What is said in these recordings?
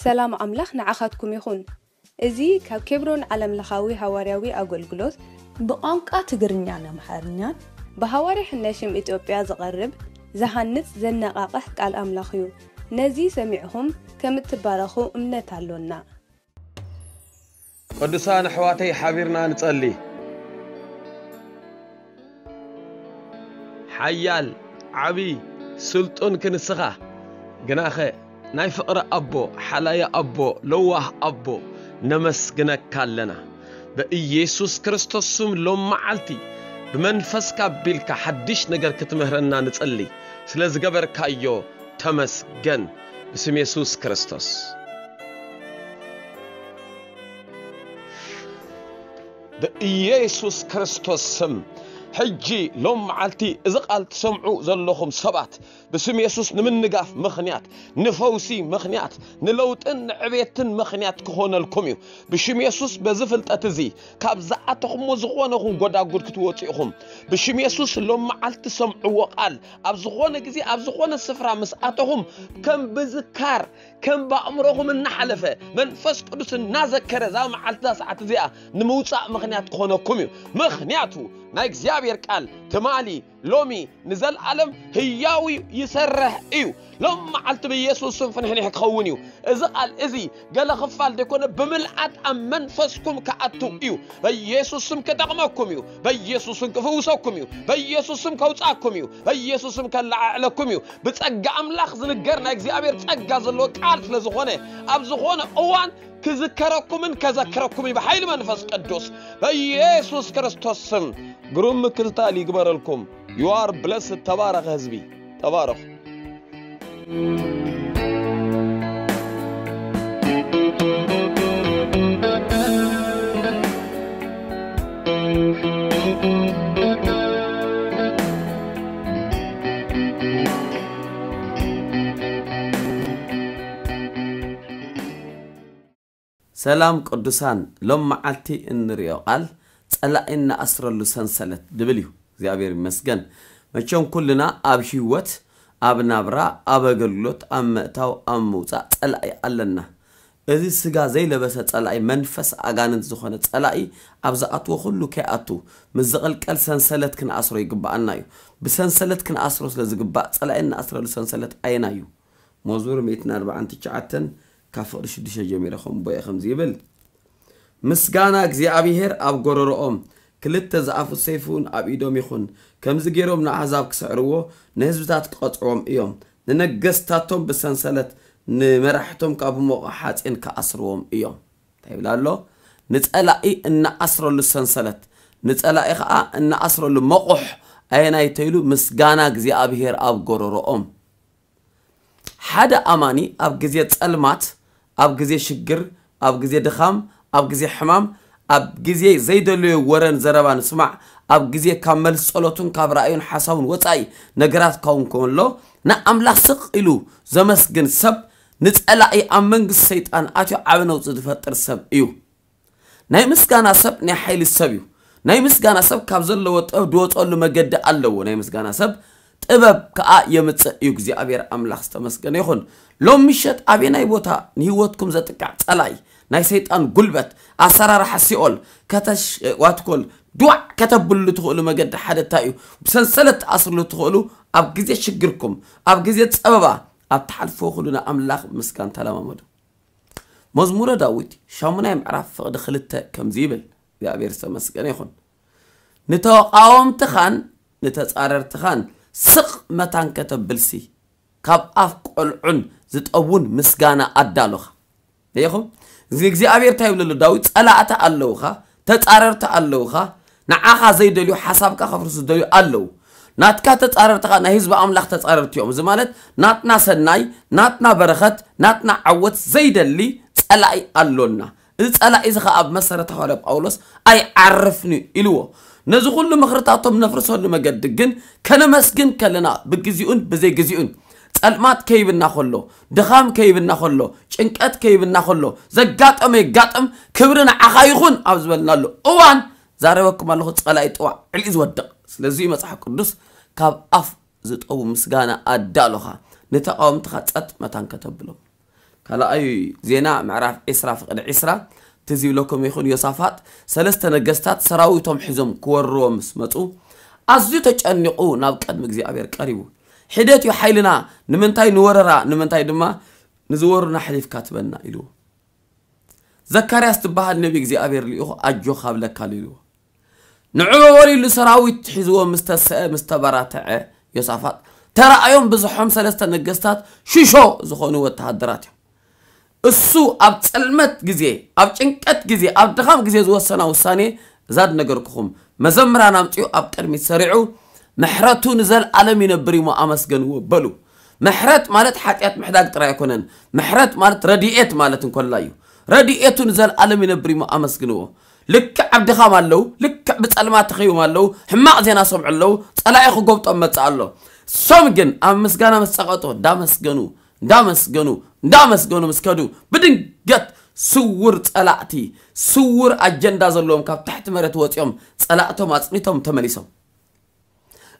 ሰላም ኣምላኽ ንዓኻትኩም ይኹን። እዚ ካብ ኬብሮን ዓለምለኻዊ ሃዋርያዊ ኣገልግሎት ብቋንቋ ትግርኛን ኣምሓርኛን ብሃዋርያ ሕነሽም ኢትዮጵያ ዝቐርብ ዝሃንጽ ዘነቓቕሕ ቃል ኣምላኽ እዩ። ነዚ ሰሚዕኹም ከም እትባረኹ እምነት ኣሎና። ቅዱሳን ኣሕዋተይ ሓቢርና ንጸሊ። ሓያል ዓቢ ስልጡን ክንስኻ ግናኸ ናይ ፍቕሪ ኣቦ ሓላዪ ኣቦ ለዋህ ኣቦ ነመስግነካ ኣለና። ብኢየሱስ ክርስቶስ ስም ሎም መዓልቲ ብመንፈስካ ኣቢልካ ሓድሽ ነገር ክትምህረና ንጸሊ። ስለ ዝገበርካዮ ተመስገን። ብስም የሱስ ክርስቶስ። ብኢየሱስ ክርስቶስ ስም ሕጂ ሎም መዓልቲ እዚ ቃል ትሰምዑ ዘለኹም ሰባት ብስም የሱስ ንምንጋፍ ምኽንያት፣ ንፈውሲ ምኽንያት፣ ንለውጥን ንዕቤትን ምኽንያት ክኾነልኩም እዩ። ብሽም የሱስ በዚ ፍልጠት እዚ ካብ ዝኣተኹሞ ዝኾነ ኹን ጎዳጉድ ክትወፁ ኢኹም። ብሽም የሱስ ሎም መዓልቲ ሰምዕዎ ቃል ኣብ ዝኾነ ግዜ ኣብ ዝኾነ ስፍራ ምስ ኣተኹም ከም ብዝካር ከም ብኣእምሮኹም እናሓለፈ መንፈስ ቅዱስ እናዘከረ እዛ መዓልቲ እዛ ሰዓት እዚኣ ንምውፃእ ምኽንያት ክኾነኩም እዩ። ምኽንያቱ ናይ እግዚኣብሔር ቃል ትማሊ ሎሚ ንዘለኣለም ህያው እዩ፣ ይሰርሕ እዩ። ሎም መዓልቲ ብኢየሱስ ስም ፍንሕንሕ ክኸውን እዩ። እዚ ቃል እዚ ገለ ክፋል ዘይኮነ ብምልኣት ኣብ መንፈስኩም ክኣቱ እዩ። በኢየሱስ ስም ክጠቕመኩም እዩ። በኢየሱስ ስም ክፍውሰኩም እዩ። በኢየሱስ ስም ከውፃኩም እዩ። በኢየሱስ ስም ከለዓዕለኩም እዩ። ብጸጋ ኣምላኽ ዝንገር ናይ እግዚኣብሔር ጸጋ ዘለዎ ቃል ስለ ዝኾነ ኣብ ዝኾነ እዋን ክዝከረኩምን ከዘክረኩም እዩ ብሓይሊ መንፈስ ቅዱስ በኢየሱስ ክርስቶስ ስም። ግሩም ምክትታል ይግበረልኩም። You are blessed። ተባረኸ ህዝቢ፣ ተባረኹ። ሰላም ቅዱሳን፣ ሎም መዓልቲ እንርእዮ ቃል ጸላኢ እንኣስረሉ ሰንሰለት ድብል እዩ። እግዚኣብሔር ይመስገን። መቸም ኩልና ኣብ ህይወት፣ ኣብ ናብራ፣ ኣብ ኣገልግሎት፣ ኣብ ምእታው፣ ኣብ ምውጻእ ጸላኢ ኣለና። እዚ ስጋ ዘይለበሰ ጸላኢ፣ መንፈስ ኣጋንንት ዝኾነ ጸላኢ ኣብ ዝኣትዎ ኩሉ ከይኣቱ ምስ ዝቕልቀል ሰንሰለት ክንኣስሮ ይግብኣና እዩ። ብሰንሰለት ክንኣስሮ ስለ ዝግባእ ጸላኢ እንኣስረሉ ሰንሰለት ኣየናይ እዩ? መዝሙር ሚእትን ኣርባዓን ትሽዓተን ካብ ፍቕዲ ሽዱሽተ ጀሚረ ከም ቦኤ ከምዚ ይብል፣ ምስጋና እግዚኣብሔር ኣብ ጎረሮኦም፣ ክልተ ዝኣፉ ሰይፊ እውን ኣብ ኢዶም ይኹን። ከምዚ ገይሮም ንኣህዛብ ክስዕርዎ፣ ንህዝብታት ክቐጽዕዎም እዮም። ንነገስታቶም ብሰንሰለት፣ ንመራሕቶም ካብ ሞቐ ሓጺን ክኣስርዎም እዮም። እንታይ ይብል ኣሎ? ንጸላኢ እንኣስረሉ ሰንሰለት፣ ንጸላኢ ኸኣ እንኣስረሉ መቑሕ ኣየናይ ተይሉ ምስጋና እግዚኣብሔር ኣብ ጎረሮኦም። ሓደ ኣማኒ ኣብ ግዜ ጸልማት፣ ኣብ ግዜ ሽግር፣ ኣብ ግዜ ድኻም፣ ኣብ ግዜ ሕማም፣ ኣብ ግዜ ዘይደለዮ ወረን ዘረባ ንስማዕ፣ ኣብ ግዜ ካብ መልሲ ጸሎቱን ካብ ራእዩን ሓሳቡን ወጻኢ ነገራት ካውን ከሎ ንኣምላኽ ስቕ ኢሉ ዘመስግን ሰብ ንጸላኢ ኣብ መንግስቲ ሰይጣን ኣትዩ ዓቢ ነውጺ ዝፈጥር ሰብ እዩ። ናይ ምስጋና ሰብ ናይ ሓይሊ ሰብ እዩ። ናይ ምስጋና ሰብ ካብ ዘለዎ ጥበብ ድወፀሉ መገዲ ኣለዎ። ናይ ምስጋና ሰብ ጥበብ ከዓ የምፅእ እዩ። እግዚኣብሔር ኣምላኽ ዝተመስገነ ይኹን። ሎም ምሸት ኣበየናይ ቦታ ንህይወትኩም ዘጥቃዕ ፀላኢ ናይ ሰይጣን ጉልበት ኣሰራርሓ ሲኦል ከተሽ ዋትኮል ድዋዕ ከተብሉ ትኽእሉ መገዲ ሓደ እንታይ እዩ? ብሰንሰለት ትኣስርሉ ትኽእሉ ኣብ ግዜ ሽግርኩም ኣብ ግዜ ፀበባ ኣብ ትሓልፍዎ ኩሉ ንኣምላኽ ምስጋን ተለማመዱ። መዝሙረ ዳዊት ሻሙናይ ምዕራፍ ፍቕዲ ክልተ ከምዚ ይብል፣ እግዚኣብሔር ዝተመስገነ ይኹን። ንተቃወምትኻን ንተጻረርትኻን ስቕ መታን ከተብልሲ ካብ ኣፍ ቆልዑን ዝጠውን ምስጋና ኣዳሎኻ። ርኢኹም? እዚ እግዚኣብሔር እንታይ ይብለሉ ዳዊት? ጸላእቲ ኣለውኻ፣ ተጻረርቲ ኣለውኻ፣ ንዓኻ ዘይደልዩ ሓሳብካ ከፍርሱ ዝደልዩ ኣለዉ። ናትካ ተጻረርቲ ኸኣ ናይ ህዝቢ ኣምላኽ ተጻረርቲ እዮም። እዚ ማለት ናትና ሰናይ፣ ናትና በረኸት፣ ናትና ዓወት ዘይደሊ ጸላኢ ኣሎና። እዚ ጸላኢ እዚ ኸኣ ኣብ መሰረተ ሃዋርያ ጳውሎስ ኣይዓርፍን እዩ ኢልዎ። ነዚ ኹሉ ምኽርታቶም ነፍርሰሉ መገዲ ግን ከነመስግን ከለና ብግዚኡን ብዘይግዚኡን ጸልማት ከይብና ኸሎ፣ ድኻም ከይብና ኸሎ፣ ጭንቀት ከይብና ኸሎ፣ ዘጋጠመ የጋጥም፣ ክብሪ ንዓኻ ይኹን ኣብ ዝበልናሉ እዋን ዛረበኩም ኣለኹ፣ ጸላኢ ጥዋዕ ዕልኢ ዝወድቕ። ስለዚ እዩ መጽሓፍ ቅዱስ ካብ ኣፍ ዝጠቡ ምስጋና ኣዳሎኻ፣ ንተቓወምትኻ ጸጥ መታን ከተብሎም። ካልኣይ ዜና ምዕራፍ ዕስራ ፍቕዲ ዕስራ ትዝ ይብለኩም ይኹን፣ ዮሳፋጥ ሰለስተ ነገስታት ሰራዊቶም ሒዞም ክወርዎ ምስ መጹ ኣዝዩ ተጨኒቑ ናብ ቅድሚ እግዚኣብሔር ቀሪቡ። "ሒደት እዩ ሓይልና፣ ንምንታይ ንወረራ፣ ንምንታይ ድማ ንዝወሩና ኣሕሊፍካ ትበና?" ኢልዎ። "ዘካርያስ ትበሃል ነቢ እግዚኣብሔር ልኢኹ ኣጆኻ ብለካ ኣሎ" ኢልዎ። ንዑ በሉ ኢሉ ሰራዊት ሒዝዎ ምስ ተሰአ ምስ ተበራተዐ ዮሳፋጥ ተራእዮም ብዝሖም ሰለስተ ነገስታት ሽሾ ዝኾኑ ወተሃደራት እዮም። እሱ ኣብ ጸልመት ግዜ፣ ኣብ ጭንቀት ግዜ፣ ኣብ ድኻም ግዜ ዝወሰና ውሳኔ እዛ ዝነገርኩኹም። መዘምራን ኣምጺኡ ኣብ ቅድሚት ሰሪዑ "ምሕረቱ ንዘልኣለም ይነብር እሞ ኣመስገንዎ" በሉ። ምሕረት ማለት ሓጢኣት ምሕዳግ ጥራይ ኣይኮነን። ምሕረት ማለት ረድኤት ማለት እንኮላ እዩ። "ረድኤቱ ንዘልኣለም ይነብር እሞ ኣመስግንዎ። ልክዕ ኣብ ድኻም ኣለዉ፣ ልክዕ ብጸልማት ተኸይቦም ኣለዉ፣ ሕማቕ ዜና ሰምዑ ኣለዉ፣ ጸላኢ ክጎብጦም መጽእ ኣሎ። እሶም ግን ኣብ ምስጋና ምስ ጸቐጡ እንዳመስገኑ፣ እንዳመስገኑ፣ እንዳመስገኑ ምስ ከዱ ብድንገት ስውር ጸላእቲ፣ ስውር ኣጀንዳ ዘለዎም ካብ ታሕቲ መሬት ወጺኦም ጸላእቶም ኣጽኒቶም ተመሊሶም።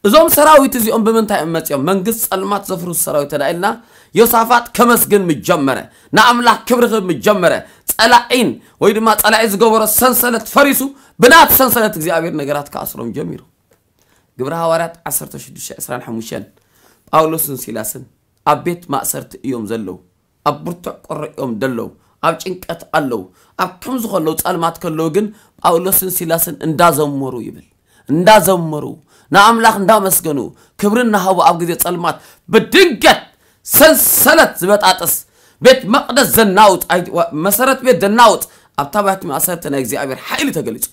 እዞም ሰራዊት እዚኦም ብምንታይ እዮም መጺኦም? መንግስት ጸልማት ዘፍርሱ ሰራዊት ተዳኢልና ዮሳፋጥ ከመስግን ምጀመረ፣ ንኣምላኽ ክብሪ ክህብ ምጀመረ፣ ጸላዒን ወይ ድማ ጸላዒ ዝገበሮ ሰንሰለት ፈሪሱ ብናት ሰንሰለት እግዚኣብሔር ነገራት ክኣስሮም ጀሚሩ። ግብረ ሃዋርያት ዓሰርተ ሽዱሽተ ዕስራን ሓሙሽተን ጳውሎስን ሲላስን ኣብ ቤት ማእሰርቲ እዮም ዘለዉ። ኣብ ብርቱዕ ቁሪ እዮም ደለዉ። ኣብ ጭንቀት ኣለዉ። ኣብ ከምዚ ከለዉ ጸልማት ከለዉ ግን ጳውሎስን ሲላስን እንዳዘመሩ ይብል። እንዳዘመሩ ንኣምላኽ እንዳመስገኑ ክብሪ እናሃቡ ኣብ ግዜ ጸልማት ብድንገት ሰንሰለት ዝበጣጥስ ቤት መቕደስ ዘናውጥ ኣይ- ዋ- መሰረት ቤት ዘናውጥ ኣብታ ባት ማእሰርቲ ናይ እግዚኣብሔር ሓይሊ ተገሊጹ።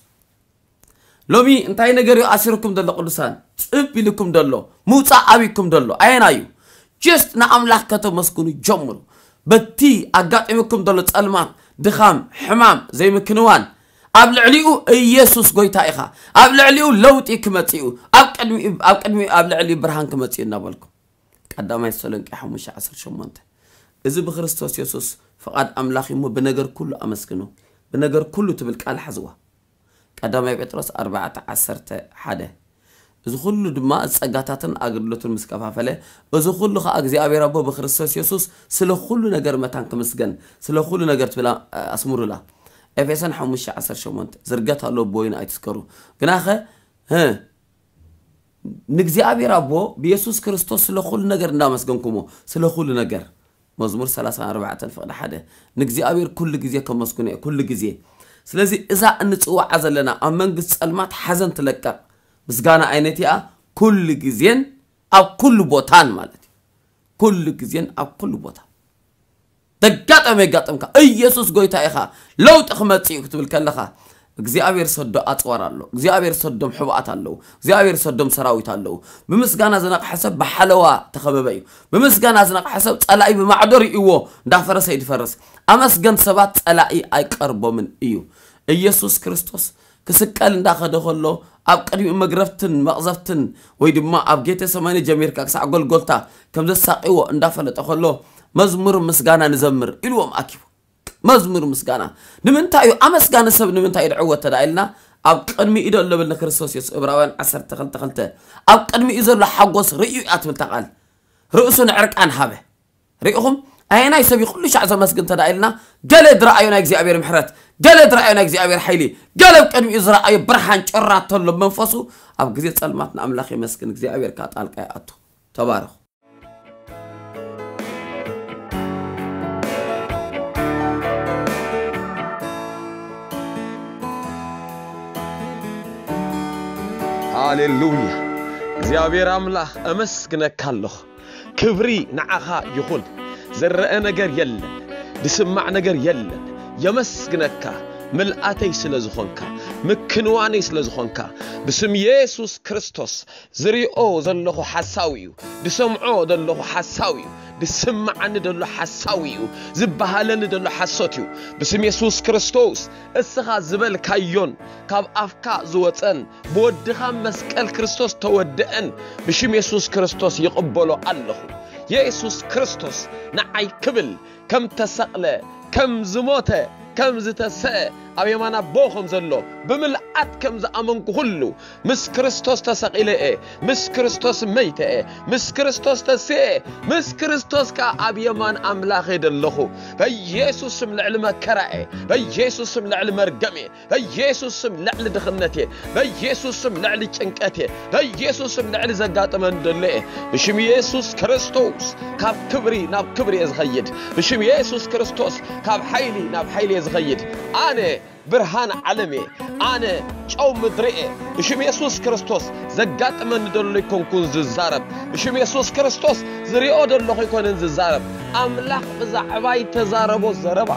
ሎሚ እንታይ ነገር እዩ ኣሲርኩም ዘሎ ቅዱሳን? ጽብ ኢልኩም ዘሎ ምውጻእ ኣብይኩም ዘሎ ኣየና እዩ? ጀስት ንኣምላኽ ከተመስግኑ ጀምሩ። በቲ ኣጋጢምኩም ዘሎ ጸልማት፣ ድኻም፣ ሕማም፣ ዘይምክንዋን ኣብ ልዕሊኡ ኢየሱስ ጎይታ ኢኻ። ኣብ ልዕሊኡ ለውጢ ክመጽእ እዩ። ኣብ ቅድሚኡ ኣብ ቅድሚኡ ኣብ ልዕሊኡ ብርሃን ክመጽእ እዩ እናበልኩም ቀዳማይ ተሰሎንቄ ሓሙሽተ ዓሰርተ ሸሞንተ። እዚ ብክርስቶስ የሱስ ፍቓድ ኣምላኽ እዩ እሞ ብነገር ኩሉ ኣመስግኑ። ብነገር ኩሉ ትብል ቃል ሓዝዋ። ቀዳማይ ጴጥሮስ ኣርባዕተ ዓሰርተ ሓደ። እዚ ኩሉ ድማ ጸጋታትን ኣገልግሎትን ምስ ከፋፈለ፣ እዚ ኩሉ ኸኣ እግዚኣብሔር ኣቦ ብክርስቶስ የሱስ ስለ ኩሉ ነገር መታን ክምስገን፣ ስለ ኩሉ ነገር ትብል ኣስምሩላ። ኤፌሶን ሓሙሽተ ዓሰርተ ሸሞንተ። ዝርገት ኣሎ ብወይኑ ኣይትስከሩ። ግናኸ፣ እ፣ ንእግዚኣብሔር ኣቦ ብየሱስ ክርስቶስ ስለ ኩሉ ነገር እንዳመስገንኩሞ፣ ስለ ኩሉ ነገር። መዝሙር ሰላሳን ኣርባዕተን ፍቕዲ ሓደ። ንእግዚኣብሔር ኩሉ ግዜ ከመስግኖ እየ፣ ኩሉ ግዜ። ስለዚ እዛ እንጽውዓ ዘለና ኣብ መንግስቲ ጸልማት ሓዘን ትለቀቕ ምስጋና ዓይነት እያ፣ ኩሉ ግዜን ኣብ ኩሉ ቦታን ማለት እዩ። ኩሉ ግዜን ኣብ ኩሉ ቦታ። ደጋጠመ የጋጥምካ፣ ኢየሱስ ጎይታ ኢኻ፣ ለውጢ ክመጽእ እዩ ክትብል ከለኻ፣ እግዚኣብሔር ሰዶ ኣጽዋር ኣሎ፣ እግዚኣብሔር ሰዶም ሕቡኣት ኣለዉ፣ እግዚኣብሔር ሰዶም ሰራዊት ኣለዉ። ብምስጋና ዝነቕሐ ሰብ ብሓለዋ ተኸበበ እዩ። ብምስጋና ዝነቕሐ ሰብ ጸላኢ ብማዕዶ ርእይዎ እንዳፈረሰ እዩ ዝፈርስ። ኣመስገን ሰባት ጸላኢ ኣይቀርቦምን እዩ። ኢየሱስ ክርስቶስ ክስቀል እንዳኸደ ከሎ፣ ኣብ ቅድሚኡ መግረፍትን መቕዘፍትን ወይ ድማ ኣብ ጌቴሰማኒ ጀሚርካ ክሳዕ ጎልጎልታ ከም ዘሳቕይዎ እንዳፈለጠ ከሎ፣ መዝሙር ምስጋና ንዘምር ኢልዎም ኣኪቡ። መዝሙር ምስጋና ንምንታይ እዩ? ኣመስጋኒ ሰብ ንምንታይ እዩ ዝዕወት ተዳ ኢልና፣ ኣብ ቅድሚኡ ዘሎ ብል ንክርስቶስ የሱስ፣ ዕብራውያን ዓሰርተ ክልተ ክልተ፣ ኣብ ቅድሚኡ ዘሎ ሓጎስ ርእዩ እያ ትብል እታ ቃል። ርእሱ ንዕርቃን ሃበ። ርኢኹም? ኣየናይ ሰብ እዩ ኩሉ ሻዕ ዘመስግን ተዳ ኢልና፣ ገለ ዝረኣዮ ናይ እግዚኣብሔር ምሕረት፣ ገለ ዝረኣዮ ናይ እግዚኣብሔር ሓይሊ፣ ገለ ኣብ ቅድሚኡ ዝረኣዮ ብርሃን ጭራ ተሎ መንፈሱ፣ ኣብ ግዜ ጸልማት ንኣምላኽ የመስግን፣ እግዚኣብሔር ከኣ ጣልቃ ይኣቱ። ተባረኹ። ሃሌሉያ። እግዚኣብሔር ኣምላኽ፣ ኣመስግነካ ኣለኹ። ክብሪ ንዓኻ ይኹን። ዝረአ ነገር የለን፣ ዝስማዕ ነገር የለን። የመስግነካ፣ ምልኣተይ ስለ ዝኾንካ፣ ምክንዋነይ ስለ ዝኾንካ። ብስም የሱስ ክርስቶስ ዝሪኦ ዘለኹ ሓሳዊ እዩ፣ ዝሰምዖ ዘለኹ ሓሳዊ እዩ፣ ዝስምዓኒ ዘሎ ሓሳዊ እዩ፣ ዝበሃለኒ ዘሎ ሓሶት እዩ። ብስም የሱስ ክርስቶስ እስኻ ዝበልካዮን ካብ ኣፍካ ዝወጸን ብወድኻ መስቀል ክርስቶስ ተወደአን ብሽም የሱስ ክርስቶስ ይቕበሎ ኣለኹ። የሱስ ክርስቶስ ንዓይ ክብል ከም ተሰቕለ፣ ከም ዝሞተ፣ ከም ዝተሰአ፣ ኣብ የማን ኣቦ ከም ዘሎ ብምልኣት ከም ዝኣመንኩ ኩሉ፣ ምስ ክርስቶስ ተሰቒለ እየ፣ ምስ ክርስቶስ መይተ እየ፣ ምስ ክርስቶስ ተስየ እየ፣ ምስ ክርስቶስ ከኣ ኣብ የማን ኣምላኽ እየ ዘለኹ። በኢየሱስ ስም ልዕሊ መከራ እየ፣ በኢየሱስ ስም ልዕሊ መርገም እየ፣ በኢየሱስ ስም ልዕሊ ድኽነት እየ፣ በኢየሱስ ስም ልዕሊ ጭንቀት እየ፣ በኢየሱስ ስም ልዕሊ ዘጋጥመን ዘሎ እየ። ብሽም ኢየሱስ ክርስቶስ ካብ ክብሪ ናብ ክብሪ እየ ዝኸይድ። ብሽም ኢየሱስ ክርስቶስ ካብ ሓይሊ ናብ ሓይሊ እየ ዝኸይድ። ኣነ ብርሃን ዓለም እየ። ኣነ ጨው ምድሪ እየ። ብሽም የሱስ ክርስቶስ ዘጋጥመኒ ዘሎ ኣይኮንኩን ዝዛረብ። ብሽም የሱስ ክርስቶስ ዝሪኦ ዘለኹ ኣይኮነን ዝዛረብ። ኣምላኽ ብዛዕባይ ተዛረቦ ዘረባ፣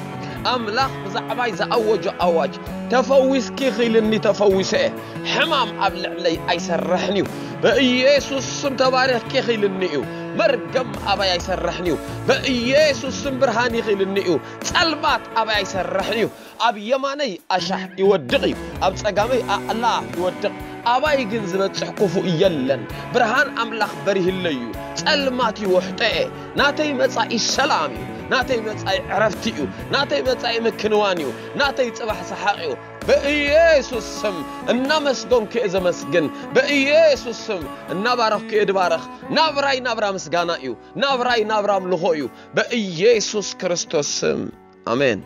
ኣምላኽ ብዛዕባይ ዝኣወጆ ኣዋጅ፣ ተፈዊስኪ ኺልኒ ተፈዊሰ እየ። ሕማም ኣብ ልዕለይ ኣይሰርሕን እዩ። ብኢየሱስ ስም ተባሪኽኪ ኺልኒ እዩ። መርገም ኣባይ ኣይሰርሕን እዩ። ብኢየሱስ ስም ብርሃን ይኺልኒ እዩ። ጸልማት ኣባይ ኣይሰርሕን እዩ። ኣብ የማነይ ኣሻሕ ይወድቕ እዩ፣ ኣብ ጸጋመይ ኣእላፍ ይወድቕ፣ ኣባይ ግን ዝበጽሕ ክፉእ የለን። ብርሃን ኣምላኽ በሪህለይ እዩ፣ ጸልማት ይውሕጠ እየ። ናተይ መጻኢ ሰላም እዩ፣ ናተይ መጻኢ ዕረፍቲ እዩ፣ ናተይ መጻኢ ምክንዋን እዩ፣ ናተይ ጽባሕ ሰሓቕ እዩ። ብኢየሱስ ስም እናመስገንኩ እየ ዘመስግን። ብኢየሱስ ስም እናባረኽኩ እየ ድባረኽ። ናብራይ ናብራ ምስጋና እዩ፣ ናብራይ ናብራ ኣምልኾ እዩ። ብኢየሱስ ክርስቶስ ስም ኣሜን።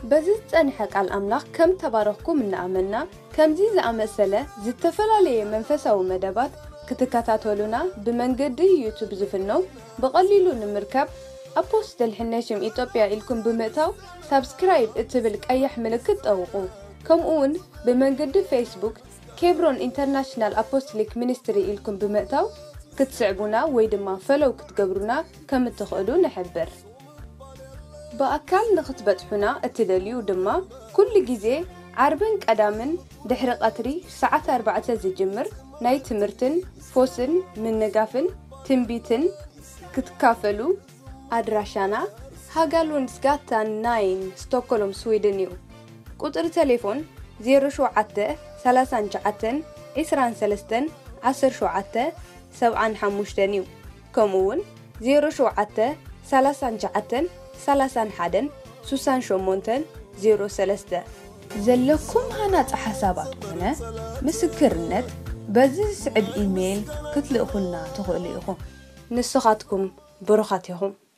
በዚ ዝጸንሐ ቃል ኣምላኽ ከም ተባረኽኩም እናኣመንና፣ ከምዚ ዝኣመሰለ ዝተፈላለየ መንፈሳዊ መደባት ክትከታተሉና ብመንገዲ ዩቱብ ዝፍነው ብቐሊሉ ንምርካብ ኣፖስትል ሕነሽም ኢትዮጵያ ኢልኩም ብምእታው ሳብስክራይብ እትብል ቀያሕ ምልክት ጠውቑ። ከምኡ እውን ብመንገዲ ፌስቡክ ኬብሮን ኢንተርናሽናል ኣፖስቶሊክ ሚኒስትሪ ኢልኩም ብምእታው ክትስዕቡና ወይ ድማ ፈለው ክትገብሩና ከም እትኽእሉ ንሕብር። ብኣካል ንኽትበጽሑና እትደልዩ ድማ ኩሉ ግዜ ዓርብን ቀዳምን ድሕሪ ቐትሪ ሰዓት ኣርባዕተ ዝጅምር ናይ ትምህርትን ፎስን ምንጋፍን ትንቢትን ክትካፈሉ ኣድራሻና ሃጋሉንድስጋታን ናይን ስቶኮሎም ስዊድን እዩ። ቁጽሪ ተሌፎን ዜሮ ሸውዓተ ሰላሳን ትሽዓተን ዒስራን ሰለስተን ዓሰርተ ሸውዓተ ሰብዓን ሓሙሽተን እዩ። ከምኡ እውን ዜሮ ሸውዓተ ሰላሳን ትሽዓተን ሰላሳን ሓደን ስሳን ሸሞንተን ዜሮ ሰለስተ። ዘለኩም ሃናጺ ሓሳባት ኮነ ምስክርነት በዚ ዝስዕብ ኢሜይል ክትልእኹልና ትኽእሉ ኢኹም። ንስኻትኩም ብሩኻት ኢኹም።